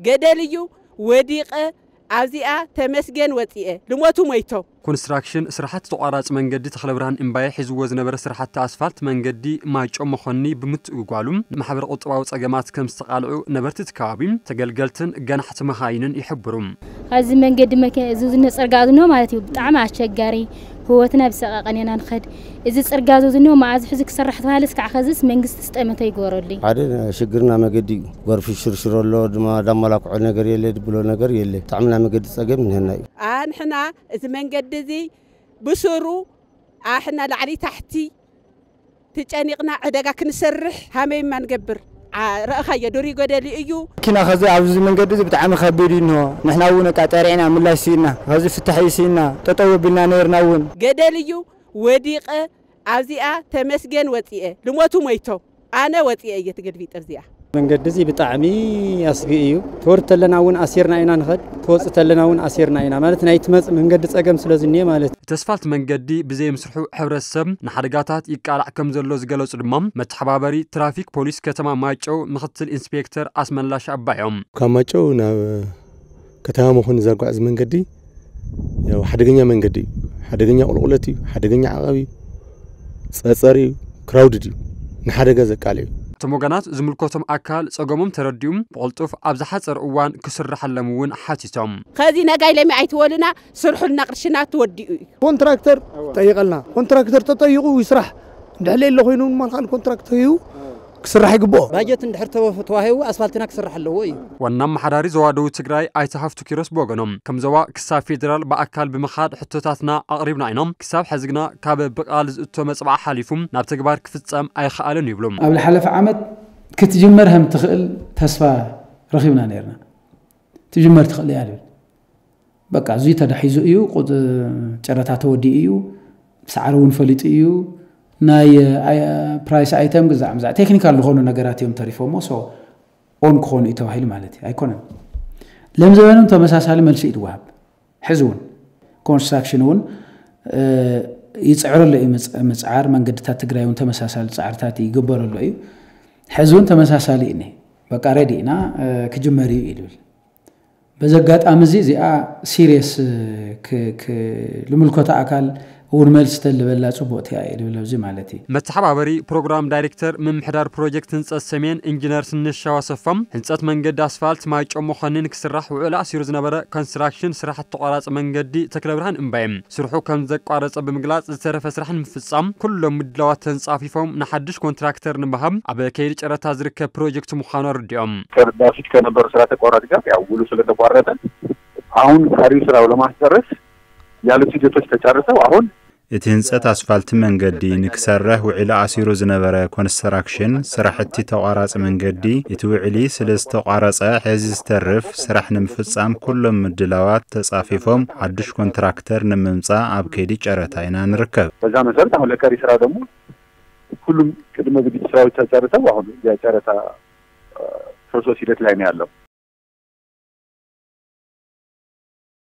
ገደል እዩ ወዲቐ ኣብዚኣ ተመስገን ወፂኤ ልሞቱ ሞይቶ ኮንስትራክሽን ስራሕቲ ተቋራፂ መንገዲ ተኽለብርሃን እምባየ ሒዝዎ ዝነበረ ስራሕቲ ኣስፋልት መንገዲ ማይጨው መኾኒ ብምትእጓሉ ንማሕበረ ቁጠባዊ ፀገማት ከም ዝተቓልዑ ነበርቲ እቲ ከባቢ ተገልገልትን ገናሕቲ መኻይንን ይሕብሩ። ኣብዚ መንገዲ መኪና እዚ ዝነ ፅርጋ ዝኖ ማለት እዩ ብጣዕሚ ኣስቸጋሪ ህይወትና ብሰቃቀን ኢና ንኸድ እዚ ፅርጋ እዚ ዝኖ መዓዝ ሕዚ ክሰራሕ ተባሃለ እስካዕ ኸዝስ መንግስቲ ስጠመተ ይገበረሉ ሓደ ሽግርና መገዲ እዩ ጎርፊ ሽርሽሮ ኣሎ ድማ ዳመላክዖ ነገር የለ ድብሎ ነገር የለ ብጣዕምና መገዲ ፀገም ንህና እዩ ኣንሕና እዚ መንገዲ እዚ ብስሩ ኣሕና ላዕሊ ታሕቲ ትጨኒቕና ዕደጋ ክንሰርሕ ሃመይማ ንገብር ረእኻዮ ዱሪ ጎደሊ እዩ። ኪና ኸዚ ኣብዚ መንገዲ እዚ ብጣዕሚ ከቢድ እዩ እንሆ ንሕና እውን እቃ ጠሪዕና ምላሽ ስኢና ኸዚ ፍታሕ እዩ ስኢና ጠጠው ኣቢልና ነይርና እውን። ገደል እዩ ወዲቐ ኣብዚኣ ተመስገን ወፂኤ ልሞቱ ሞይቶ ኣነ ወፂኤ እየ ትገልቢጠ ኣብዚኣ። መንገዲ እዚ ብጣዕሚ ኣስጊ እዩ። ትወርድ ተለና እውን ኣሲርና ኢና ንኸድ፣ ትወፅእ ተለና እውን ኣሲርና ኢና ማለት ናይ ትመፅእ መንገዲ ፀገም ስለ ዝኒኤ ማለት እዩ። እቲ ኣስፋልት መንገዲ ብዘይምስርሑ ሕብረተሰብ ንሓደጋታት ይቃላዕ ከም ዘሎ ዝገለፁ ድማ መተሓባበሪ ትራፊክ ፖሊስ ከተማ ማይጨው ምክትል ኢንስፔክተር ኣስመላሽ ኣባዮም። ካብ ማይጨው ናብ ከተማ መኾኒ ዘጓዕዝ መንገዲ ያው ሓደገኛ መንገዲ እዩ። ሓደገኛ ቁልቁለት እዩ። ሓደገኛ ዓቐብ እዩ። ፀፀር እዩ። ክራውድድ እዩ። ንሓደጋ ዘቃልዕ እዩ። እቶም ወገናት ዝምልከቶም ኣካል ፀገሞም ተረዲኡ ብቕልጡፍ ኣብ ዝሓፀረ እዋን ክስረሐሎም እውን ሓቲቶም። ኸዚ ነጋይ ለሚ ኣይትወሉና ስርሑልና ቅርሽና ተወዲኡ እዩ። ኮንትራክተር ጠይቐልና ኮንትራክተር ተጠይቑ ይስራሕ እንድሕር ለየለ ኮይኑ እውን ማልካል ኮንትራክተር እዩ ክስራሕ ይግብኦ። ባጀት እንድሕር ተወ- ተዋሂቡ ኣስፋልትና ክስራሕ ኣለዎ እዩ። ዋና ኣመሓዳሪ ዞባ ደቡብ ትግራይ ኣይተ ሃፍቱ ኪሮስ ብወገኖም፣ ከም ዞባ ክሳብ ፌዴራል ብኣካል ብምኻድ ሕቶታትና ኣቕሪብና ኢና፣ ክሳብ ሕዚ ግና ካብ ብቓል ዝእቶ መፅብዓ ሓሊፉ ናብ ተግባር ክፍፀም ኣይኸኣለን ይብሉ። ኣብ ዝሓለፈ ዓመት ክትጅመር ከም ትኽእል ተስፋ ረኺብና ነይርና። ትጅመር ትኽእል እያ ዝብል በቃ እዙይ ተዳሒዙ እዩ ቁጥ ጨረታ ተወዲኡ እዩ ሰዓሪ እውን ፈሊጡ እዩ ናይ ፕራይስ ኣይተም ግዛዕ ምዛዕ ቴክኒካል ዝኾኑ ነገራት እዮም ተሪፎሞ ሶ ኦን ክኾኑ እዩ ተባሂሉ ማለት እዩ ኣይኮነን ለምዘበንም ተመሳሳሊ መልሲ እዩ ዝወሃብ ሕዚ እውን ኮንስትራክሽን እውን ይፅዕረሎ እዩ ምፅዓር መንገድታት ትግራይ እውን ተመሳሳሊ ፃዕርታት ይግበረሎ እዩ ሕዚ እውን ተመሳሳሊ እዩ በቃ ሬዲ ኢና ክጅመር እዩ ይብል በዚ ኣጋጣሚ እዚ እዚኣ ሲሪየስ ልምልከቶ ኣካል እውን መልስ ተልበላ ፅቡቅ እቲያ እየ ልብል ኣብዚ ማለት እዩ። መተሓባበሪ ፕሮግራም ዳይሬክተር ምምሕዳር ፕሮጀክት ህንፀት ሰሜን ኢንጂነር ስንሻው ኣሰፋ ህንፀት መንገዲ ኣስፋልት ማይጨው መኾኒ ንክስራሕ ውዕል ኣሲሩ ዝነበረ ኮንስትራክሽን ስራሕቲ ተቋራፂ መንገዲ ተክለብርሃን እምባየ ስርሑ ከም ዘቋረፀ ብምግላፅ ዝተረፈ ስራሕ ንምፍፃም ኩሎም ምድላዋት ተንፃፊፎም ንሓድሽ ኮንትራክተር ንምሃብ ኣብ ከይዲ ጨረታ ዝርከብ ፕሮጀክት ምዃኑ ኣረዲኦም። በፊት ከነበሩ ስራ ተቋራጭ ጋር ያው ውሉ ስለተቋረጠ አሁን ቀሪው ስራው ለማስጨረስ ያሉት ሂደቶች ተጨርሰው አሁን እቲ ህንፀት ኣስፋልት መንገዲ ንክሰርሕ ውዒሉ ኣሲሩ ዝነበረ ኮንስትራክሽን ስራሕቲ ተቋራፂ መንገዲ እቲ ውዕሊ ስለዝተቋረፀ ሕዚ ዝተርፍ ስራሕ ንምፍፃም ኩሎም ምድላዋት ተፃፊፎም ሓዱሽ ኮንትራክተር ንምምፃእ ኣብ ከይዲ ጨረታ ኢና ንርከብ። በዛ መሰረት አሁን ለቀሪ ስራ ደግሞ ሁሉም ቅድመ ዝግጅት ስራዎች ተጨርሰው አሁን የጨረታ ፕሮሰስ ሂደት ላይ ነው ያለው።